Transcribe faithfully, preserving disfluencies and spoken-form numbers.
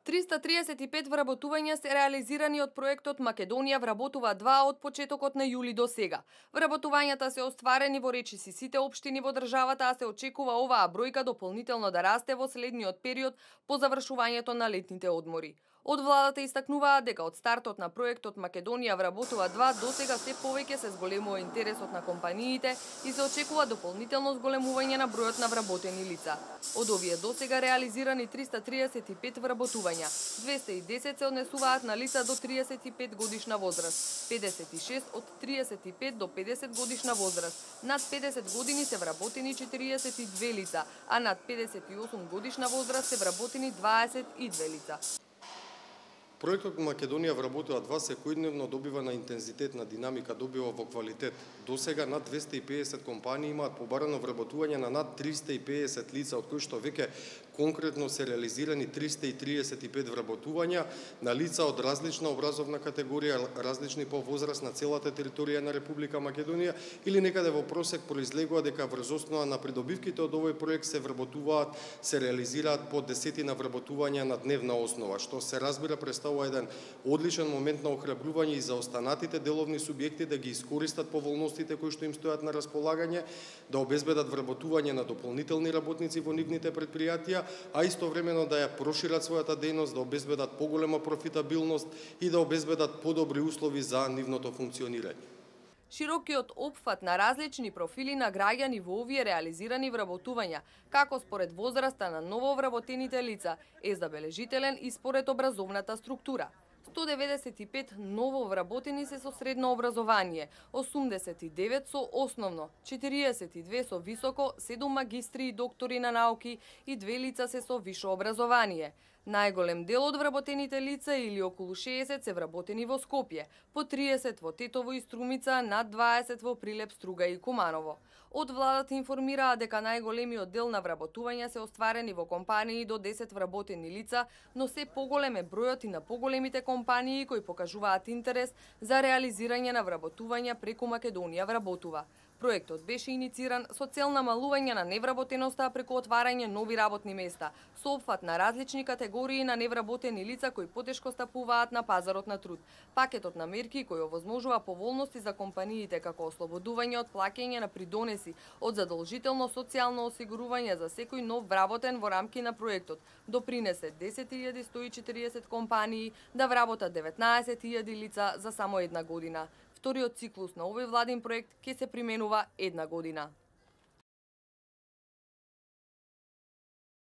триста триесет и пет вработувања се реализирани од проектот Македонија вработува два од почетокот на јули до сега. Вработувањата се остварени во речиси сите општини во државата, а се очекува оваа бројка дополнително да расте во следниот период по завршувањето на летните одмори. Од владата истакнуваат дека од стартот на проектот Македонија вработува два до сега се повеќе се зголемува интересот на компаниите и се очекува дополнително зголемување на бројот на вработени лица. Од овие до сега реализирани триста триесет и пет вработувања, двесте и десет се однесуваат на лица до триесет и пет годишна возраст, педесет и шест од триесет и пет до педесет годишна возраст, над педесет години се вработени четириесет и две лица, а над педесет и осум годишна возраст се вработени дваесет и две лица. Проектот Македонија вработува два секојдневно добива на интензитет на динамика, добива во квалитет. До сега над двесте и педесет компании имаат побарано вработување на над триста и педесет лица, од кои што веќе конкретно се реализирани триста и триесет и пет вработувања на лица од различна образовна категорија, различни по возраст на целата територија на Република Македонија, или некаде во просек произлегува дека врз основа на придобивките од овој проект се вработуваат, се реализираат по десетина вработувања на дневна основа, што се разбира представува еден одличен момент на охрабрување и за останатите деловни субјекти да ги искористат поволностите кои што им стојат на располагање, да обезбедат вработување на дополнителни работници во нивните предпријатија, а истовремено да ја прошират својата дејност, да обезбедат поголема профитабилност и да обезбедат подобри услови за нивното функционирање. Широкиот опфат на различни профили на граѓани во овие реализирани вработувања, како според возраста на нововработените лица, е забележителен и според образовната структура. сто деветдесет и пет нововработени се со средно образование, осумдесет и девет со основно, четириесет и две со високо, седум магистри и доктори на науки и две лица се со висше образование. Најголем дел од вработените лица, или околу шеесет, се вработени во Скопје, по триесет во Тетово и Струмица, над дваесет во Прилеп, Струга и Куманово. Од владата информираа дека најголемиот дел на вработувања се остварени во компании до десет вработени лица, но се поголем е бројот и на поголемите компании кои покажуваат интерес за реализирање на вработувања преку Македонија вработува. Проектот беше инициран со цел намалување на невработеноста преку отварање нови работни места, со опфат на различни категории на невработени лица кои потешко стапуваат на пазарот на труд. Пакетот на мерки кој овозможува поволности за компаниите како ослободување од плаќање на придонеси од задолжително социјално осигурување за секој нов вработен во рамки на проектот, допринесе десет илјади сто и четириесет компании да вработат деветнаесет илјади лица за само една година. Вториот циклус на овој владин проект ќе се применува една година.